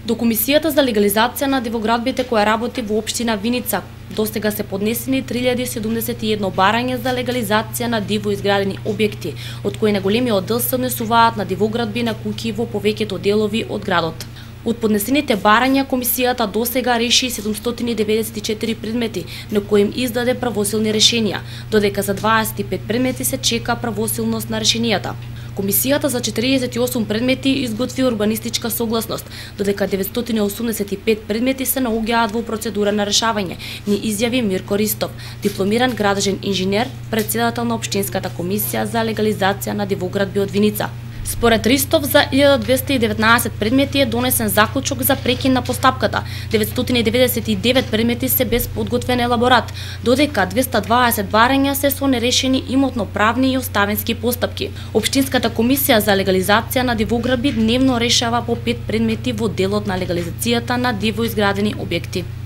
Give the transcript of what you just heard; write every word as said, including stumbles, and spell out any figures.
До Комисијата за легализација на дивоградбите која работи во општина Виница, достега се поднесени три илјади седумдесет и едно барања за легализација на диво изградени објекти, од кои најголемиот дел се однесуваат на дивоградби на куќи во повеќето делови од градот. Од поднесените барања, комисијата досега реши седумстотини деветдесет и четири предмети, на кои им издаде правосилни решенија, додека за дваесет и пет предмети се чека правосилност на решенијата. Комисијата за четиридесет и осум предмети изготви урбанистичка согласност, додека деветстотини и осумдесет и пет предмети се наоѓаат во процедура на решавање, ни изјави Мирко Ристов, дипломиран градежен инженер, председател на Општинската комисија за легализација на дивоградби од Виница. Според Ристов, за илјада двесте и деветнаесет предмети е донесен заклучок за прекин на постапката, деветстотини и деветдесет и девет предмети се без подготвен елаборат, додека двесте и дваесет барања се со нерешени имотно-правни и оставински постапки. Општинската комисија за легализација на дивоградби дневно решава по пет предмети во делот на легализацијата на диво изградени објекти.